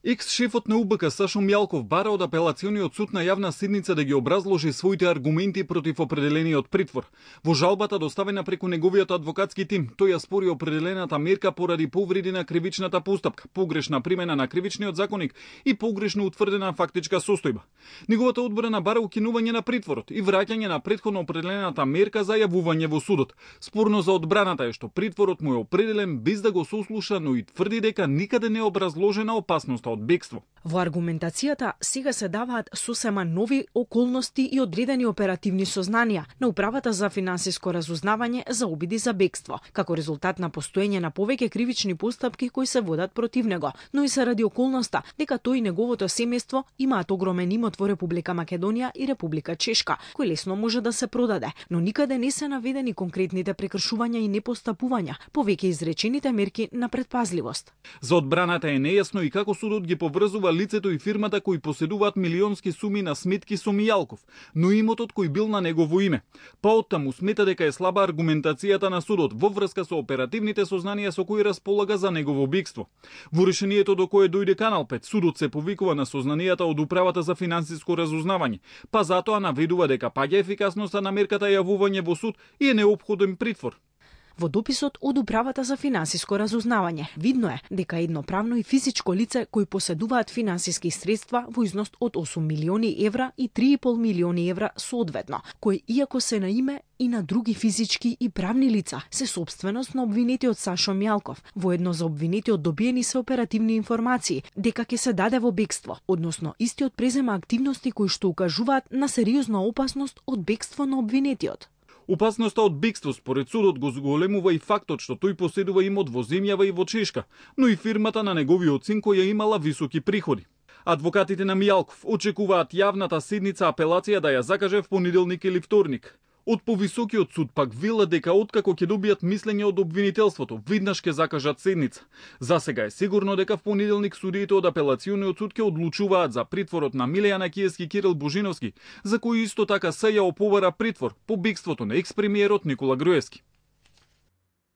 Екс-шефот на УБК Сашо Мјалков бара од апелациониот суд на јавна седница да ги образложи своите аргументи против определениот притвор. Во жалбата доставена преку неговиот адвокатски тим, тој ја спори определената мерка поради повреди на кривичната постапка, погрешна примена на кривичниот законник и погрешно утврдена фактичка состојба. Неговата одбрана бара укинување на притворот и враќање на претходно определената мерка за јавување во судот. Спорно за одбраната е што притворот му е определен без да го сослуша, но и тврди дека никаде не е образложена опасноста од бегство. Во аргументацијата сега се даваат сосема нови околности и одредени оперативни сознанија на Управата за финансиско разузнавање за обиди за бегство, како резултат на постоење на повеќе кривични постапки кои се водат против него, но и заради околноста дека тој и неговото семејство имаат огромен имот во Република Македонија и Република Чешка, кој лесно може да се продаде, но никаде не се наведени конкретните прекршувања и непостапувања, повеќе изречените мерки на предпазливост. За одбраната е нејасно и како судот ги поврзува лицето и фирмата кои поседуваат милионски суми на сметки со Мијалков, но имотот кој бил на негово име. Па оттаму смета дека е слаба аргументацијата на судот во врска со оперативните сознанија со кои располага за негово бегство. Во решението до кое дојде Канал 5, судот се повикува на сознанијата од Управата за финансиско разузнавање, па затоа наведува дека паѓа ефикасноста на мерката јавување во суд и е неопходен притвор. Во дописот од Управата за финансиско разузнавање видно е дека едно правно и физичко лице кои поседуваат финансиски средства во износ од 8 милиони евра и 3,5 милиони евра соодветно, кои иако се на име и на други физички и правни лица, се собственост на обвинетиот Сашо Мјалков. Воедно за обвинетиот добиени се оперативни информации дека ќе се даде во бегство, односно истиот презема активности кои што укажуваат на сериозна опасност од бегство на обвинетиот. Опасноста од бегство според судот го зголемува и фактот што тој поседува имот во земјава и во Чешка, но и фирмата на неговиот син која имала високи приходи. Адвокатите на Мијалков очекуваат јавната седница апелација да ја закаже в понеделник или вторник. Од повисокиот суд пак велат дека откако ќе добијат мислење од обвинителството, веднаш ќе закажат седница. Засега е сигурно дека в понеделник судиите од апелациониот суд ќе одлучуваат за притворот на Милеја Накиевски Кирил Божиновски, за кој исто така се ја оповара притвор по бегството на екс-премиерот Никола Груевски.